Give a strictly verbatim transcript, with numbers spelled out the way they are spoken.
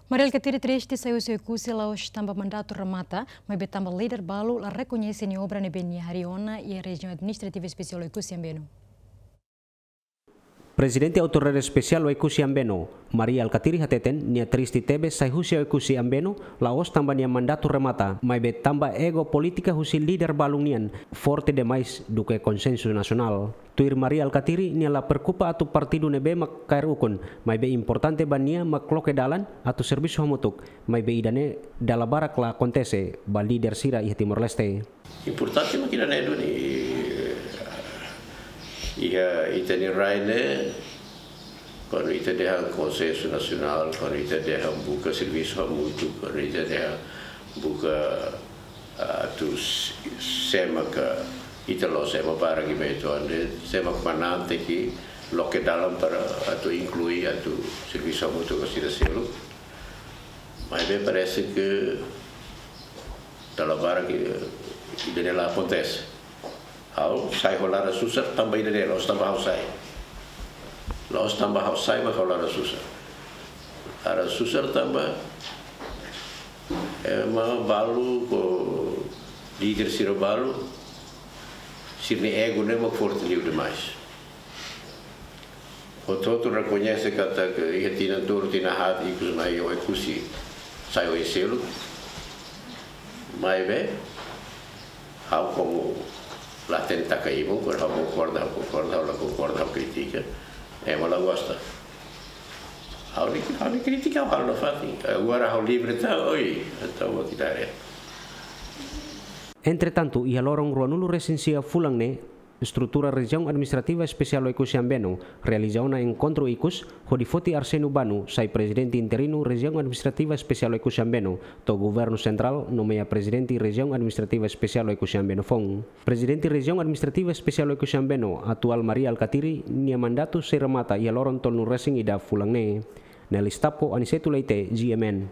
Mari Alkatiri triste sai husi Oekusi la'ós tanba mandatu remata, maibé tanba líder balu la rekoñese nia obra ne'ebé nia harii ona iha Rejiaun Administrativa Espesiál Oekusi Ambeno. Prezidente Autoridade Espesiál Oekusi Ambeno, Mari Alkatiri hateten, nia triste tebes sai husi Oekusi Ambeno, la'ós tanba nia mandatu remata, maibé tanba ego polítika husi líder balun nian forte demais duké konsensu nasionál. Tuir Mari Alkatiri, nia la preokupa atu partidu ne'ebé mak kaer ukun, maibé importante ba nia mak loke dalan atu servisu hamutuk, maibé ida-ne'e dala barak la akontese ba líder sira iha Timor-Leste. Importante mak ida-ne'e duni, iha ita-nia rai ne'e, kuandu ita dehan konsensu nasionál, kuandu ita dehan buka servisu hamutuk, kuandu ita dehan buka, ah, atu s-, sé mak ita la'ós ema barak iha ita-nia rai ne'e, sé mak manán tenke loke dalan para atu inklui, atu servisu hamutuk ho sira seluk. Maibé parese ke dala barak ke ida-ne'e la akontese. Ha'u sai ho laran susar tanba ida-ne'e, la'ós tanba ha'u sai. La'ós tanba ha'u sai mak ha'u laran susar. Laran susar tanba ema balu ho líder sira balu, sira-nia ego ne'e mak forte liu demais. Hotu-hotu rekoñese katak iha tinan tolu, tinan haat ikus mai Oekusi sai oin seluk. Maibé, ha'u komu la hatene taka ibun, kuandu ha'u konkorda, ha'u konkorda, ha'u la konkorda, ha'u kritika. Ema la gosta. Ha'u ne'e, ha'u ne'e kritika, ha'u la fati. Agora ha'u livre tan, oi, entaun vou quitar ele. Entretantu, iha loron ruanulu resin sia fulan ne'e, estrutura Rejiaun Administrativa Espesiál Oekusi Ambeno realiza ona enkontru ikus, hodi foti Arsénio Bano sai prezidente interinu Rejiaun Administrativa Espesiál Oekusi Ambeno, to'o Governu Sentrál nomeia prezidente Rejiaun Administrativa Espesiál Oekusi Ambeno foun. Prezidente Rejiaun Administrativa Espesiál Oekusi Ambeno atuál Mari Alkatiri nia mandatu sei remata iha loron tolunulu resin ida fulan ne'e. Nelis Tapo, Aniceto Leite, G M N.